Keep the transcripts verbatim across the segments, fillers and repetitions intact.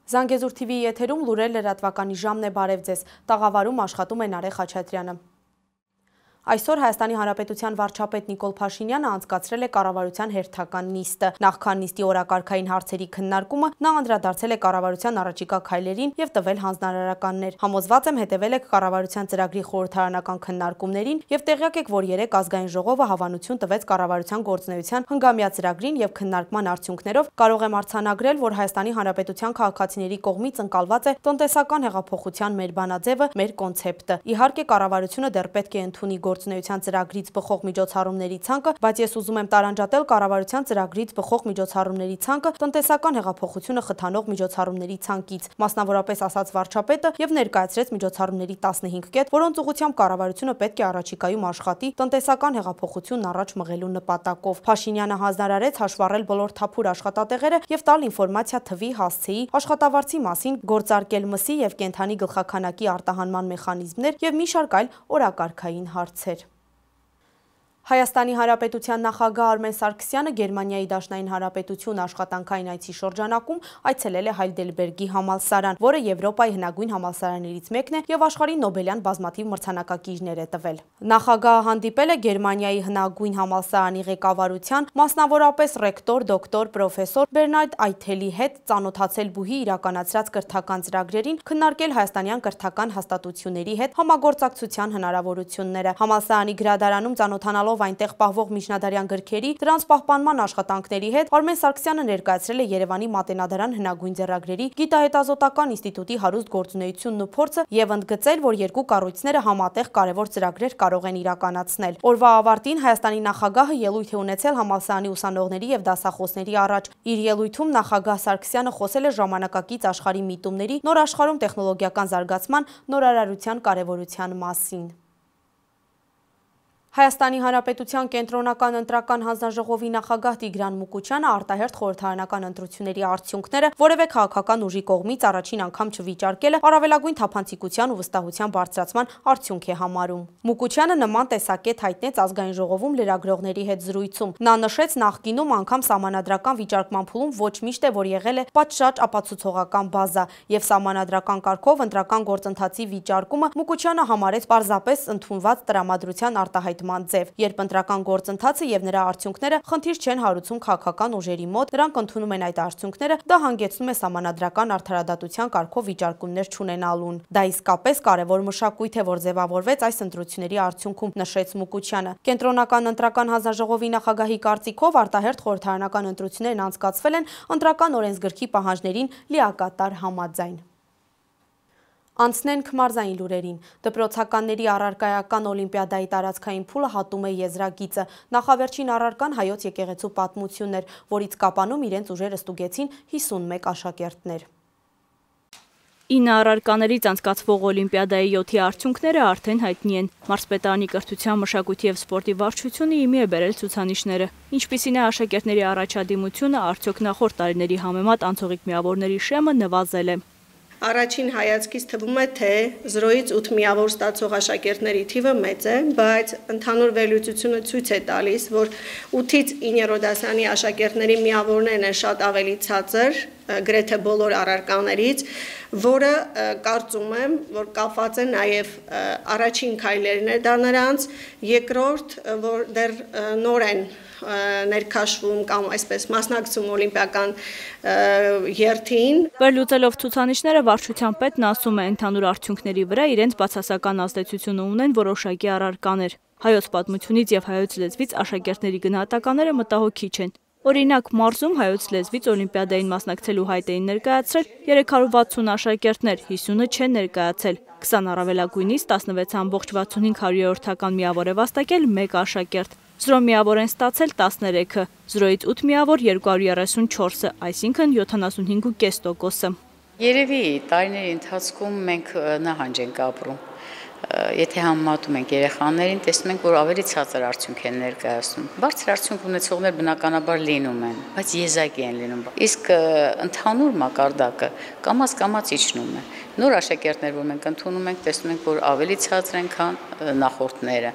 Զանգեզուր Թի Վիի եթերում լուրեր լրատվականի ժամն է, բարև ձեզ, տաղավարում աշխատում է Նարեկ Խաչատրյանը։ Այսօր Հայաստանի Հանրապետության վարչապետ Նիկոլ Փաշինյանը անցկացրել է կառավարության հերթական նիստը։ Նախքան նիստի օրակարգային հարցերի քննարկումը նա անդրադարձել է կառավարության առաջիկա քայլերին եւ տվել հանձնարարականներ։ Համոզված եմ հետևել եք կառավարության ծրագրի խորհրդարանական քննարկումներին եւ տեղյակ եք, որ երեք ազգային ժողովը հավանություն տվեց կառավարության գործունեության հնգամյա ծրագրին եւ քննարկման արդյունքներով կարող եմ արձանագրել, որ Հայաստանի Հանրապետության քաղաքացիների կողմից ընկալված է տնտեսական հեղափոխության մեր բանաձևը, մեր կոնցեպտը։ Իհարկե կառավարությունը դեռ պետք է ընդունի գործունեության ծրագրից բխող միջոցառումների ցանկը, բայց ես ուզում եմ տարանջատել կառավարության ծրագրից բխող միջոցառումների ցանկը տնտեսական հեղափոխությունը խթանող միջոցառումների ցանկից, մասնավորապես ասաց վարչապետը եւ ներկայացրեց միջոցառումների տասնհինգ կետ, որոնց ուղղությամբ կառավարությունը պետք է առաջիկայում աշխատի տնտեսական հեղափոխությունն առաջ մղելու նպատակով։ Փաշինյանը հանձնարարեց հաշվառել բոլոր թափուր աշխատատեղերը եւ տալ ինֆորմացիա թվի, հասցեի, աշխատավարձի մասին, գործարկել մսի եւ կենդանի գլխաքանակի արտահանման մեխանիզմներ եւ մի շարք այլ օրակարգային հարցեր։ Հայաստանի Հանրապետության նախագահ Արմեն Սարգսյանը Գերմանիայի Դաշնային Հանրապետություն աշխատանքային այցի շրջանակում այցելել է Հայդելբերգի համալսարան, որը Եվրոպայի հնագույն համալսարաններից մեկն է եւ աշխարհի Նոբելյան բազմաթիվ մրցանակակիրներ է տվել։ Նախագահը հանդիպել է Գերմանիայի հնագույն համալսարանի ղեկավարության, մասնավորապես ռեկտոր, դոկտոր, պրոֆեսոր Բերնարդ Այթելի հետ, ծանոթացել բուհի իրականացրած կրթական ծրագրերին, քննարկել հայաստանյան կրթական հաստատությունների հետ համագործակցության հնարավորությունները։ Համալսարանի գրադարանում ծանոթանալով այնտեղ պահվող միջնադարյան գրքերի, դրանց պահպանման աշխատանքների հետ Արմեն Սարգսյանը ներկայացրել է Երևանի Մատենադարան հնագույն ձեռագրերի գիտահետազոտական ինստիտուտի հարուստ գործունեությունն ու փորձը եւ ընդգծել, որ երկու կառույցները համատեղ կարևոր ծրագրեր կարող են իրականացնել։ Օրվա ավարտին Հայաստանի նախագահը ելույթ է ունեցել համալսարանի ուսանողների եւ դասախոսների առաջ։ Իր ելույթում նախագահ Սարգսյանը խոսել է ժամանակակից աշխարհի միտումների, նոր աշխարհում տեխնոլոգիական զարգացման, նորարարության կարեւորության մասին։ Հայաստանի Հանրապետության կենտրոնական ընտրական հանձնաժողովի նախագահ Տիգրան Մուկուչյանը արտահերթ խորհրդարանական ընտրությունների արդյունքները որևէ քաղաքական ուժի կողմից առաջին անգամ չվիճարկելը առավելագույն թափանցիկության ու վստահության բարձրացման արդյունք է համարում։ Մուկուչյանը նման տեսակետ հայտնեց ազգային ժողովում լրագրողների հետ զրույցում։ Նա նշեց նախկինում անգամ սահմանադրական վիճարկման փուլում ոչ միշտ է, որ եղել է պատշաճ ապացուցողական բազա եւ սահմանադրական կարգով ընտրական գործընթացի վիճարկումը Մուկուչյանը համարեց պարզապես ընդունված տրամադրության արտահայտ ձև, երբ ընտրական գործընթացը եւ նրա արդյունքները խնդիր չեն հարուցում քաղաքական ուժերի մոտ, նրանք ընդունում են այդ արդյունքները, դա հանգեցնում է սահմանադրական արդարադատության կարգով վիճարկումներ չունենալուն։ Դա իսկապես կարևոր մշակույթ է, որ ձևավորվեց այս ընտրությունների արդյունքում, նշեց Մուկուչյանը։ Կենտրոնական ընտրական հանձնաժողովի նախագահի կարծիքով արտահերթ խորհրդարանական ընտրություններն անցկացվել են ընտրական օրենսգրքի պահանջներին լիակատար համաձայն։ Անցնենք մարզային լուրերին։ Դպրոցականների առարկայական օլիմպիադայի տարածքային փուլը հատում է եզրագիծը։ Նախավերջին առարկան հայոց եկեղեցու պատմությունն էր, որից կապանում իրենց ուժերը ստուգեցին հիսունմեկ աշակերտներ։ ինը առարկաներից անցկացվող օլիմպիադայի յոթի արդյունքները արդեն հայտնի են։ Մարզպետարանի կրթության, մշակույթի եւ սպորտի վարչությունը իմի է բերել ցուցանիշները։ Ինչպիսին է աշակերտների առաջադիմությունը, արդյոք նախորդ տարիների համեմատ անցողիկ միավորների շեմը նվազել է։ Առաջին հայացքից թվում է, թե զրոյից ութ միավոր ստացող աշակերտների թիվը մեծ է, բայց ընդհանուր վերլուծությունը ցույց է տալիս, որ ութից իններորդ դասարանի աշակերտների միավորներն են շատ ավելի ցածր, գրեթե բոլոր առարկաներից, որը կարծում եմ, որ կապված է նաև առաջին քայլերն է դա նրանց, երկրորդ, որ դեռ նոր են ներքաշվում կամ այսպես մասնակցում օլիմպիական երթին։ Վերլուծելով ցուցանիշները վարչության պետն ասում է, ընդհանուր արդյունքների վրա իրենց բացասական ազդեցությունը ունեն որոշակի առարկաներ։ Հայոց պատմությունից եւ հայոց լեզվից աշակերտների գնահատականները մտահոգիչ են։ Օրինակ, մարզում հայոց լեզվից օլիմպիադային մասնակցելու հայտ էին ներկայացրել երեք հարյուր վաթսուն աշակերտներ, հիսունը չեն ներկայացել։ քսան առավելագույնից տասնվեց ամբողջ վաթսունհինգ հարյուրորդական միավոր է վաստակել մեկ աշակերտ։ Զրո միավոր են ստացել տասներեքը, զրոյից ութ միավոր երկու հարյուր երեսունչորսը, այսինքն յոթանասունհինգ կես տոկոսը։ Երևի տարիների ընթացքում մենք նահանջ ենք ապրում։ Եթե համեմատում ենք երեխաներին, տեսնում ենք, որ ավելի ցածր արդյունք են ներկայացնում։ Բարձր արդյունք ունեցողներ բնականաբար լինում են, բայց եզակի են լինում։ Իսկ ընդհանուր մակարդակը կամաց-կամաց իջնում է։ Նոր աշակերտներ, որ մենք ընդունում ենք, տեսնում ենք, որ ավելի ցածր են, քան նախորդները,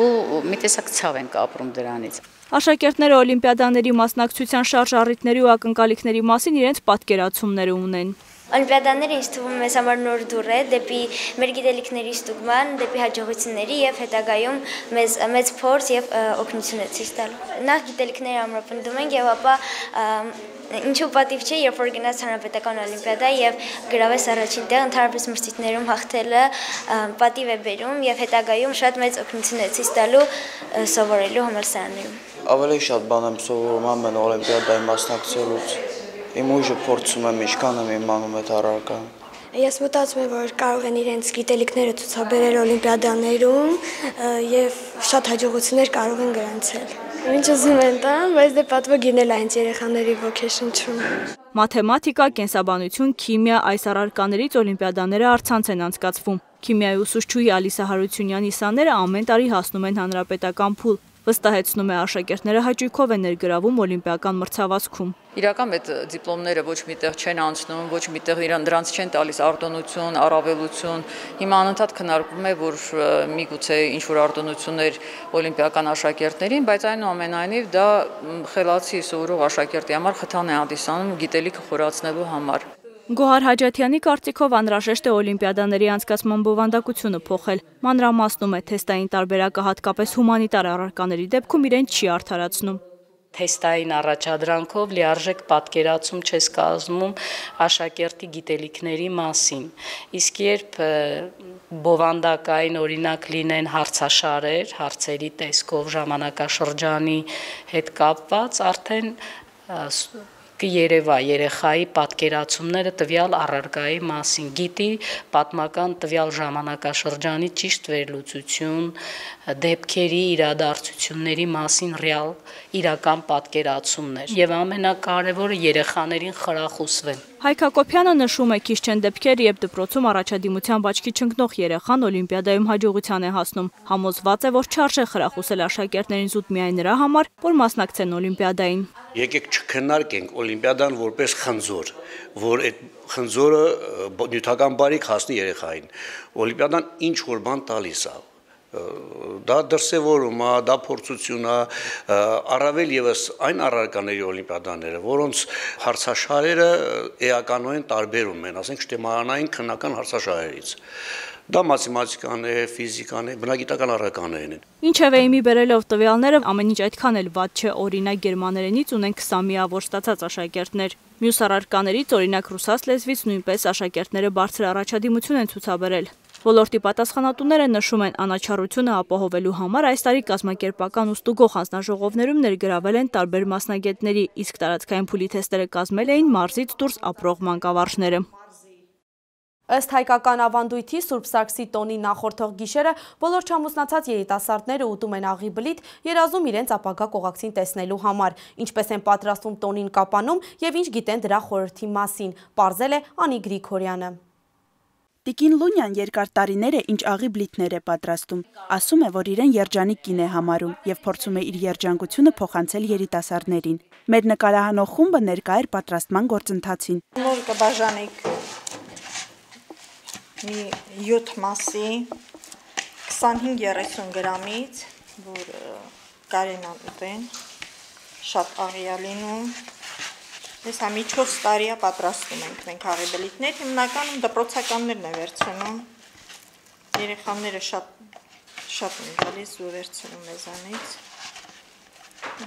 ու մի տեսակ ցավ ենք ապրում դրանից։ Աշակերտները օլիմպիադաների մասնակցության շարժ առիթների ու ակնկալիքների մասին իրենց պատկերացումները ունեն։ Օլիմպիադաները ինձ թվում է մեզ համար նոր դուռ է դեպի մեր գիտելիքների ստուգման, դեպի հաջողությունների եւ հետագայում մեզ մեծ փորձ եւ օգնություն է ցույց տալու։ Նախ գիտելիքները ամրապնդում ենք եւ ապա ինչու պատիվ չէ, երբ որ գնաց հանրապետական օլիմպիադա եւ գրավես առաջին տեղ, ընդհանրապես մրցույթներում հաղթելը պատիվ է բերում եւ հետագայում շատ մեծ օգնություն է ցույց տալու սովորելու համալսարաններում։ Ավելի շատ բան եմ սովորում ամեն օլիմպիադայի մասնակցելուց։ Իմ ուժը փորձում եմ ինչքան եմ իմանում այդ առարկան։ Ես մտածում եմ, որ կարող են իրենց գիտելիքները ցուցաբերել օլիմպիադաներում եւ շատ հաջողություններ կարող են գրանցել։ Ինչ ուզում են տան, բայց դե պատվոգինել է հենց երեխաների ոգեշնչում։ Մաթեմատիկա, կենսաբանություն, քիմիա այս առարկաներից օլիմպիադաները առցանց են անցկացվում։ Քիմիայի ուսուցչուհի Ալիսա Հարությունյանի սաները ամեն տարի հասնում են հանրապետական փուլ։ Վստահեցնում է աշակերտները հաճույքով են ներգրավում օլիմպիական մրցավազքում։ Իրական այդ դիպլոմները ոչ միտեղ չեն անցնում, ոչ միտեղ իրան դրանց չեն տալիս արտոնություն, առավելություն։ Հիմա անընդհատ քննարկվում է, որ միգուցե ինչ-որ արտոնություններ օլիմպիական աշակերտներին, բայց այնուամենայնիվ դա խելացի սովորող աշակերտի համար խթան է հանդիսանում գիտելիքը խորացնելու համար։ Գոհար Հաջաթյանի կարծիքով անհրաժեշտ է օլիմպիադաների անցկացման բովանդակությունը փոխել։ Մանրամասնում է թեստային տարբերակը հատկապես հումանիտար առարկաների դեպքում իրեն չի արդարացնում։ Թեստային առաջադրանքով լիարժեք պատկերացում չես կազմում աշակերտի գիտելիքների մասին։ Իսկ երբ բովանդակային օրինակ լինեն հարցաշարեր, հարցերի տեսքով ժամանակաշրջանի հետ կապված, արդեն կերևա երեխայի պատկերացումները տվյալ առարկայի մասին, գիտի պատմական տվյալ ժամանակաշրջանի ճիշտ վերլուծություն, դեպքերի իրադարձությունների մասին ռեալ իրական պատկերացումներ եւ ամենակարևորը երեխաներին խրախուսվեն։ Հայկ Հակոբյանը նշում է, քիչ չեն դեպքեր, երբ դպրոցում առաջադիմությամբ աչքի չընկնող երեխան օլիմպիադայում հաջողության է հասնում։ Համոզված է, որ չարժե խրախուսել աշակերտներին զուտ միայն նրա համար, որ մասնակցեն օլիմպիադային։ Եկեք չքննարկենք օլիմպիադան որպես խնձոր, որ այդ խնձորը նյութական բարիք հասնի երեխային։ Օլիմպիադան ինչ որ բան տալիս է։ Դա դրսևորում է, դա փորձություն է, առավել եւս այն առարկաների օլիմպիադաները, որոնց հարցաշարերը էականորեն տարբերում են, ասենք շտեմարանային քննական հարցաշարերից։ Դա մաթեմատիկան է, ֆիզիկան է, բնագիտական առարկաներն են։ Ինչևէ իմի բերելով տվյալները ամեն ինչ այդքան էլ վատ չէ, օրինակ գերմաներենից ունեն քսան միավոր ստացած աշակերտներ։ Մյուս առարկաներից օրինակ ռուսաց լեզվից նույնպես աշակերտները բարձր առաջադիմություն են ցուցաբերել։ Ոլորտի պատասխանատուները նշում են, անաչառությունը ապահովելու համար այս տարի կազմակերպական ու ստուգող հանձնաժողովներում ներգրավել են տարբեր մասնագետների, իսկ տարածքային փուլի թեստերը կազմել էին մարզից դուրս ապրող մանկավարժները։ Ըստ հայկական ավանդույթի Սուրբ Սարգսի տոնի նախորդող գիշերը բոլոր չամուսնացած երիտասարդները ուտում են աղի բլիթ, երազում իրենց ապագա կողակցին տեսնելու համար, ինչպես են պատրաստում տոնին կապանում եւ ինչ գիտեն դրա խորհրդի մասին, պարզել է Անի Գրիգորյանը։ Տիկին Լունյան երկար տարիներ է ինչ աղի բլիթներ է պատրաստում, ասում է, որ իրեն երջանիկ կին է համարում եւ փորձում է իր երջանկությունը փոխանցել երիտասարդներին։ Մեր նկարահանող խումբը ներկա էր պատրաստման գործընթացին։ Նոր կբաժանենք մի յոթ մասի քսանհինգ երեսուն գրամից, որ կարեն ուտեն, շատ աղի է լինում։ Ես համի չորս տարի է պատրաստում ենք մենք աղի բլիթներ, հիմնականում դպրոցականներն է վերցնում, երեխաները շատ շատ են գալիս ու վերցնում մեզանից,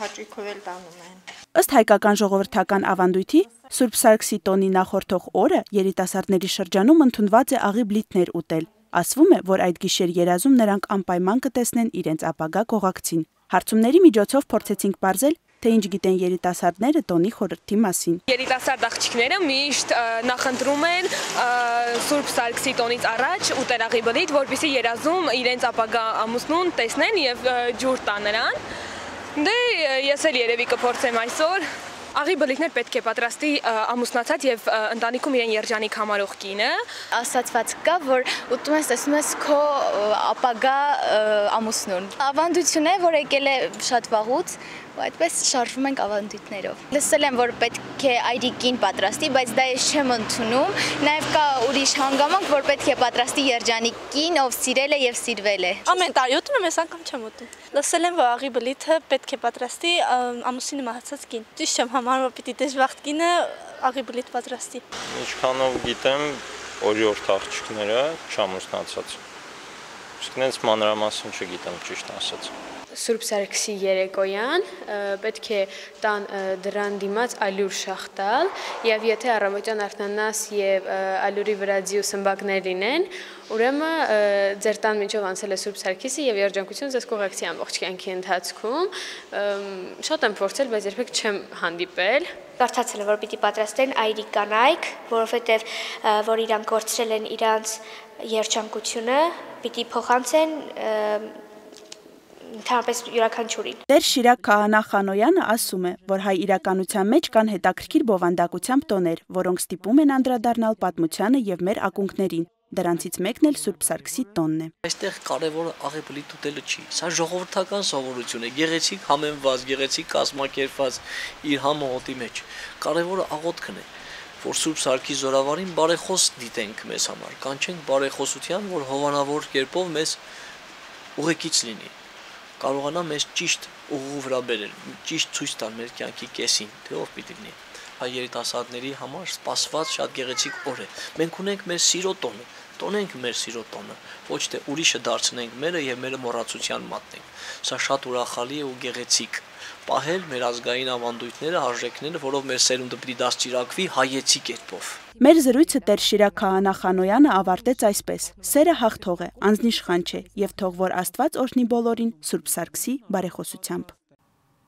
հաճույքով էլ տանում են։ Ըստ հայկական ժողովրդական ավանդույթի, Սուրբ Սարգսի տոնի նախորդող օրը երիտասարդների շրջանում ընդունված է աղի բլիթներ ուտել։ Ասվում է, որ այդ գիշեր երազում նրանք անպայման կտեսնեն իրենց ապագա կողակցին։ Հարցումների միջոցով փորձեցինք պարզել, թե ինչ գիտեն երիտասարդները տոնի խորհրդի մասին։ Երիտասարդ աղջիկները միշտ նախընտրում են Սուրբ Սարգսի տոնից առաջ ուտել աղի բլիթ, որպեսզի երազում իրենց ապագա ամուսնուն տեսնեն եւ ջուր տան նրան։ Դե ես էլ երևի կփորձեմ այսօր։ Աղի բլիթներ պետք է պատրաստի ամուսնացած եւ ընտանիքում իրեն երջանիկ համարող կինը։ Ասացված կա, որ ուտում ես տեսնում ես քո ապագա ամուսնուն։ Ավանդություն է, որ եկել է շատ վաղուց, ու այդպես շարժվում ենք ավանդույթներով։ Լսել եմ, որ պետք է այրիկին պատրաստի, բայց դա ես չեմ ընդունում։ Նաև կա ուրիշ հանգամանք, որ պետք է պատրաստի երջանիկին, ով սիրել է եւ սիրվել է։ Ամեն տարի ուտում եմ, այս անգամ չեմ ուտում։ Լսել եմ, որ աղի բլիթը պետք է պատրաստի ամուսինը մահացած կին։ Ճիշտ չեմ համարում, որ պիտի դժբախտ կինը աղի բլիթ պատրաստի։ Ինչքանով գիտեմ, օրիորդ աղջիկները չամուսնացած։ Իսկ նենց մանրամասն չգիտեմ, ճիշտ ասած։ Սուրբ Սարգսի երեկոյան պետք է տան դրան դիմաց ալյուր շաղ տալ եւ եթե առավոտյան արթնանաս եւ ալյուրի վրա ձիու սմբակներ լինեն, ուրեմն ձեր տան միջով անցել է Սուրբ Սարգիսը եւ երջանկություն ձեզ կուղեկցի ամբողջ կյանքի ընթացքում։ Շատ եմ փորձել, բայց երբեք չեմ հանդիպել։ Կարծացել եմ, որ պիտի պատրաստեն այրիկ կանայք, որովհետեւ որ իրանք կորցրել են իրանց երջանկությունը, պիտի փոխանցեն Ընդհանրապես յուրաքանչյուրին։ Տեր Շիրակ Քահանա Խանոյանը ասում է, որ հայ իրականության մեջ կան հետաքրքիր բովանդակությամբ տոներ, որոնք ստիպում են անդրադառնալ պատմությանը եւ մեր ակունքներին։ Դրանցից մեկն էլ Սուրբ Սարգսի տոնն է։ Այստեղ կարևորը աղի բլիթ ուտելը չի, սա ժողովրդական սովորություն է, գեղեցիկ համեմված, գեղեցիկ կազմակերպված իր համոհոտի մեջ։ Կարևորը աղոթքն է, որ Սուրբ Սարգսի զորավարին բարեխոս դիտենք մեզ համար, կանչենք բարեխոսության, որ հովանավոր կերպով մեզ ուղեկից լինի։ Կարողանա մեզ ճիշտ ուղու վրա բերել, ճիշտ ցույց տալ մեր կյանքի կեսին, թե ով պիտի լինի։ Հայ երիտասարդների համար սպասված շատ գեղեցիկ օր է։ Մենք ունենք մեր սիրո տոնը, տոնենք մեր սիրո տոնը, ոչ թե ուրիշը դարձնենք մերը եւ մերը մոռացության մատնենք։ Սա շատ ուրախալի է ու գեղեցիկ։ Պահել մեր ազգային ավանդույթները, արժեքները, որով մեր սերունդը պիտի դաստիարակվի հայեցի կերպով։ Մեր զրույցը Տեր Շիրակ Քահանա Խանոյանը ավարտեց այսպես. Սերը հաղթող է, անձնիշխան չէ, եւ թող որ Աստված օրհնի բոլորին Սուրբ Սարգսի բարեխոսությամբ։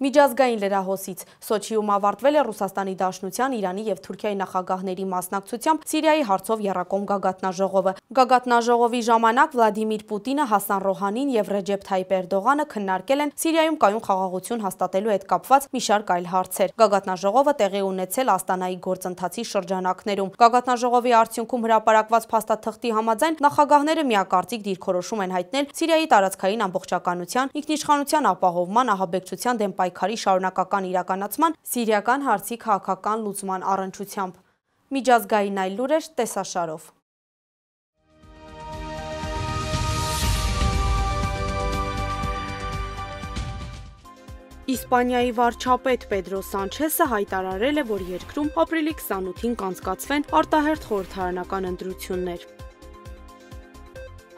Միջազգային լրահոսից Սոչիում ավարտվել է Ռուսաստանի Դաշնության, Իրանի եւ Թուրքիայի նախագահների մասնակցությամբ Սիրիայի հարցով եռակողմ գագաթնաժողովը։ Գագաթնաժողովի ժամանակ Վլադիմիր Պուտինը, Հասան Ռոհանին եւ Ռեջեփ Թայիպ Էրդողանը քննարկել են Սիրիայում կայուն խաղաղություն հաստատելու հետ կապված մի շարք այլ հարցեր։ Գագաթնաժողովը տեղի ունեցել Աստանայի գործընթացի շրջանակներում։ Գագաթնաժողովի արդյունքում հրապարակված փաստաթղթի համաձայն նախագահները միակարծիք դիրքորոշում են հայտնել Սիրիայի տարածքային ամբողջականության, ինքնիշխանության ապահովման, ահաբեկչության դեմ պայքարի շարունակական իրականացման, սիրիական հարցի քաղաքական լուծման առընչությամբ։ Միջազգային այլ լուրեր տեսաշարով։ Իսպանիայի վարչապետ Պեդրո Սանչեսը հայտարարել է, որ երկրում ապրիլի քսանութին կանցկացվեն արտահերթ խորհրդարանական ընտրություններ։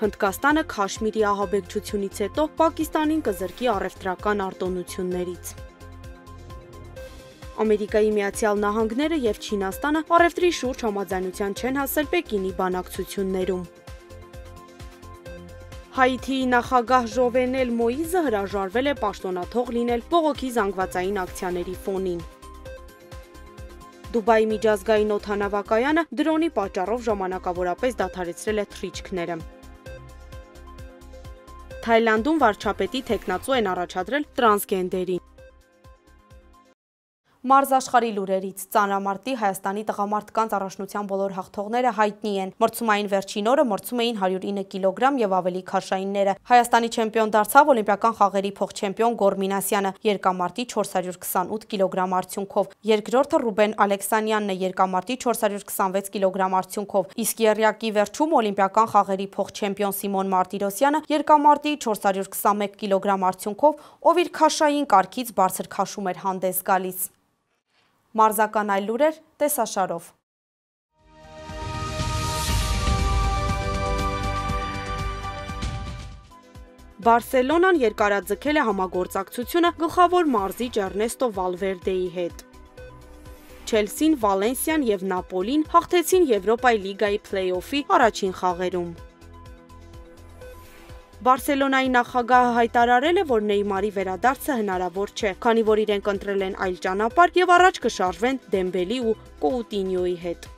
Հնդկաստանը Քաշմիրի ահաբեկչությունից հետո Պակիստանին կզրկի առևտրական արտոնություններից։ Ամերիկայի Միացյալ Նահանգները եւ Չինաստանը առևտրի շուրջ համաձայնության չեն հասել Պեկինի բանակցություններում։ Հայիթիի նախագահ Ժովենել Մոիզը հրաժարվել է պաշտոնաթող լինել բողոքի զանգվածային ակցիաների ֆոնին։ Դուբայի միջազգային օդանավակայանը դրոնի պատճառով ժամանակավորապես դադարեցրել է թռիչքները։ Թայլանդում վարչապետի թեկնածու են առաջադրել տրանսգենդերին։ Մարզաշխարհի լուրերից ծանրամարտի Հայաստանի տղամարդկանց առաջնության բոլոր հաղթողները հայտնի են։ Մրցումային վերջին օրը մրցում էին հարյուր ինը կիլոգրամ եւ ավելի քաշայինները։ Հայաստանի չեմպիոն դարձավ օլիմպիական խաղերի փոխչեմպիոն Գոր Մինասյանը երկամարտի չորս հարյուր քսանութ կիլոգրամ արդյունքով։ Երկրորդը Ռուբեն Ալեքսանյանն է երկամարտի չորս հարյուր քսանվեց կիլոգրամ արդյունքով։ Իսկ եռյակի վերջում օլիմպիական խաղերի փոխչեմպիոն Սիմոն Մարտիրոսյանը երկամարտի չորս հարյուր քսանմեկ կիլոգրամ արդյունքով, ով իր քաշային կարգից բարձր քաշում էր հանդես գալիս։ Մարզական այլ լուրեր տեսաշարով։ Բարսելոնան երկարաձգել է համագործակցությունը գլխավոր մարզիչ Էրնեստո Վալվերդեի հետ։ Չելսին, Վալենսիան եւ Նապոլին հաղթեցին Եվրոպայի լիգայի փլեյօֆի առաջին խաղերում։ Բարսելոնայի նախագահը հայտարարել է, որ Նեյմարի վերադարձը հնարավոր չէ, քանի որ իրենք ընտրել են այլ ճանապարհ եւ առաջ կշարժվեն Դեմբելի ու Կոուտինյոյի հետ։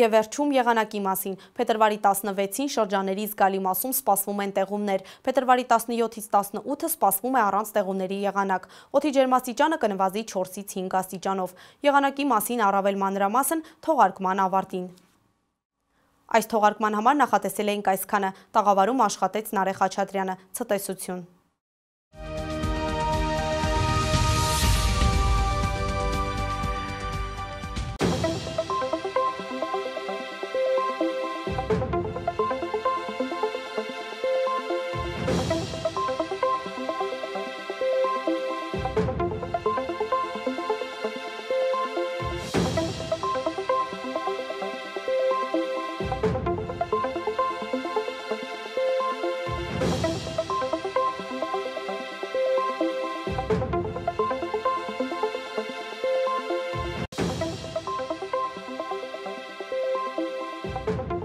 Եվ վերջում եղանակի մասին։ Փետրվարի տասնվեցին շրջաների զգալի մասում սպասվում են տեղումներ։ Փետրվարի տասնյոթից տասնութը սպասվում է առանց տեղումների եղանակ։ Օդի ջերմաստիճանը կնվազի չորսից հինգ աստիճանով։ Եղանակի մասին առավել մանրամասն թողարկման ավարտին։ Այս թողարկման համար նախատեսել էինք այսքանը, տաղավարում աշխատեց Նարեկ Խաչատրյանը, ցտեսություն։ է։